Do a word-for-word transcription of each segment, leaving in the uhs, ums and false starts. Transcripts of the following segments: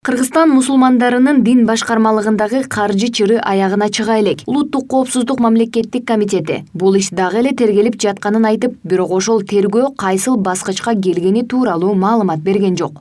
Кыргызстан мусулмандарынын дин башкармалыгындагы каржы чыры аягына чыга элек. Улуттук коопсуздук мамлекеттик комитети бул иш дагы эле тергелип жатканын айтып, бирок ошол тергөө кайсыл баскычка келгени тууралуу маалымат берген жок.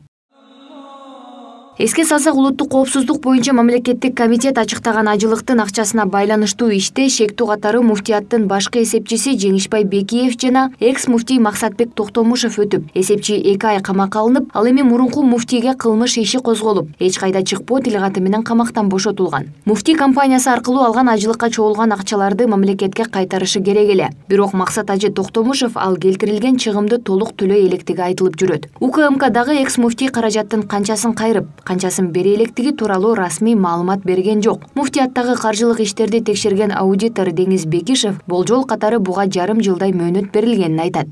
Эске салсак, улуттук коопсуздук боюнча мамлекеттик комитет ачыктаган ажылыктын акчасына байланыштуу иште шектүү катары муфтияттын башкы эсепчиси Жеңишбай Бекиев жана экс-муфтий Максатбек Токтомушев өтүп, эсепчи эки ай камакка алынып, ал эми мурунку муфтийге кылмыш иши козголуп, эч кайда чыкпоо тилгаты менен камактан бошотулган. Муфтий компаниясы аркылуу алган ажылыкка чогулган акчаларды мамлекетке кайтарышы керек эле. Бирок Максат Ажы Токтомушев ал келтирилген чыгымды толук төлөй электиги айтылып жүрөт. УКМКдагы экс-муфтий каражаттын канчасын кайрып, канчасын бере электиги тууралуу расмий маалымат берген жок. Муфтияттагы каржылык иштерди текшерген аудитор Деңиз Бекишев болжол катары буга жарым жылдай мөөнөт берилгенин айтат.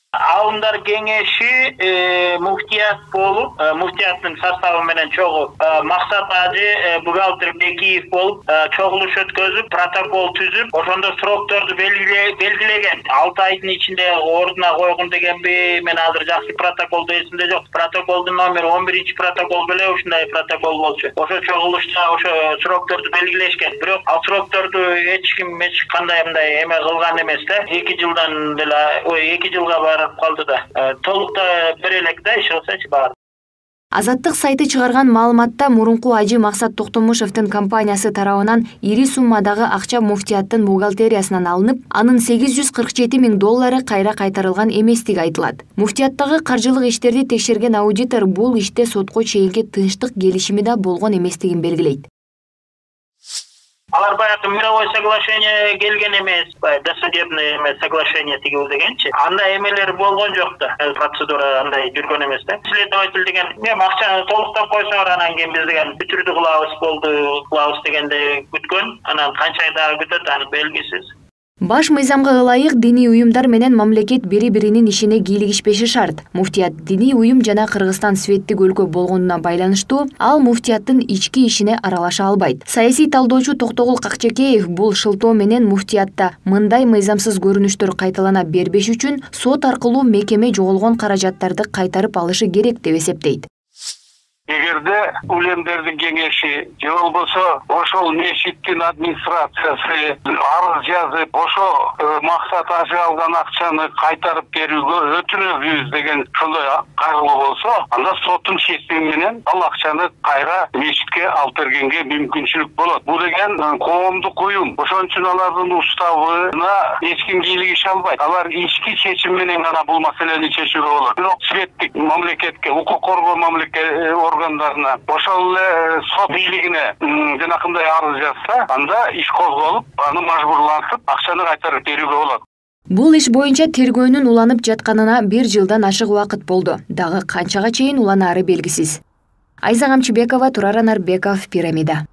Алымдар кеңеши муфтият болуп, муфтияттын составы менен чогуу Максат Ажы, бухгалтер Бекиев болуп, чогулуш өткөзүп, протокол түзүп, ошондо срокторду белгилеген. алты айдын ичинде ордуна койгон дегенби, мен азыр жакшы протоколду эсимде жок. Протоколдун номери он биринчи протокол беле ушундай протокол болчу. Ошо чогулушта ошо срокторду белгилешкен. Бирок ал срокторду эч ким эч кандай мындай эме кылган эмес да. эки жылдан деле, ой, эки жылга бар калды да. Толукта бир элек да иш кылсачы бар. Азаттык сайты чыгарган маалыматта мурунку Ажы Максат Токтомушевдин компаниясы тарабынан ири суммадагы акча муфтияттын бухгалтериясынан алынып, анын сегиз жүз кырк жети миң доллары кайра кайтарылган эместиги айтылат. Муфтияттагы каржылык иштерди текшерген аудитор бул иште сотко чейинки тынчтык келишими да болгон эместигин белгилейт. Алар баягы мировое соглашение келген эмес, досудебное соглашение тигил дегенчи. Андай эмелер болгон жок да. Процедура андай жүргөн эмес да. Следователь деген, мен акчаны толуктап койсоңор, анан кийин биз деген бүтүрдү кылабыз болду, кылабыз дегенде күткөн. Анан канча ай дагы күтөт, аны белгисиз. Баш мыйзамга ылайык диний уюмдар менен мамлекет бири-биринин ишине кийлигишпеши шарт. Муфтият диний уюм жана Кыргызстан светтик өлкө болгонуна байланыштуу ал муфтияттын ички ишине аралаша албайт. Саясий талдоочу Токтогул Какчекеев бул шылтоо менен муфтиятта мындай мыйзамсыз көрүнүштөр кайталана бербеш үчүн сот аркылуу мекеме жоголгон каражаттарды кайтарып алышы керек деп эсептейт. Эгерде улемдердин кеңеши же болбосо ошол мешиттин администрациясы арыз жазып, ошо Максат Ажы алган акчаны кайтарып берүүгө өтүнөбүз деген ошондой кайрылуу болсо, анда соттун чечими менен ал акчаны кайра мешитке алып бергенге мүмкүнчүлүк болот. Бул деген коомдук уюм. Ошон үчүн алардын уставына эч ким кийлигише албайт. Алар ички чечим менен гана бул маселени чечүүгө болот. Бирок светтик мамлекетке, укук коргоо мамлекет органдарына, ошол эле сот бийлигине жанакындай арыз жазса, анда иш козголуп, аны мажбурлантып, акчаны кайтарып берүүгө болот. Бул иш боюнча тергөөнүн уланып жатканына бир жылдан ашык убакыт болду. Дагы канчага чейин уланаары белгисиз. Айза Камчыбекова, Турар Анарбеков, Пирамида.